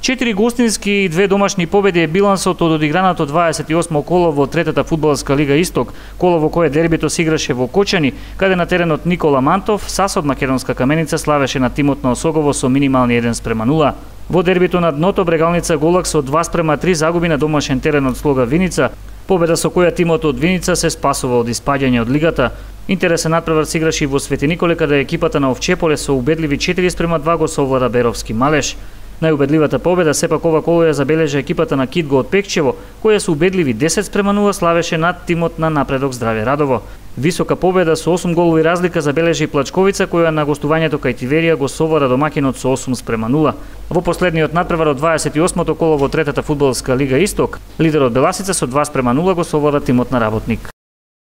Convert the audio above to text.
4 гостински и 2 домашни победи е билансот од одиграното 28 коло во третата фудбалска лига Исток, коло во кое дербито се играше во Кочани, каде на теренот Никола Мантов, САС од Македонска Каменица славеше на тимот на Осогово со минимални 1:0. Во дербито на дното Брегалница Голак со 2:3 загуби на домашен терен од Слога Виница, победа со која тимот од Виница се спасува од испаѓање од лигата. Интересен надпревар се играше и во Свети Николе, каде екипата на Овчеполе со убедливи 4:2 го совлада Беровски Малеш. Најубедливата победа сепак ова коло ја забележа екипата на Китго од Пекчево, која со убедливи 10:0 славеше над тимот на Напредок Здраве Радово. Висока победа со 8 голови разлика забележи и Плачковица, која на гостувањето кај Тиверија го совлада домакинот со 8:0. Во последниот надпревар од 28-то коло во третата фудбалска лига Исток, лидерот Беласица со 2:0 го совлада тимот на Работник.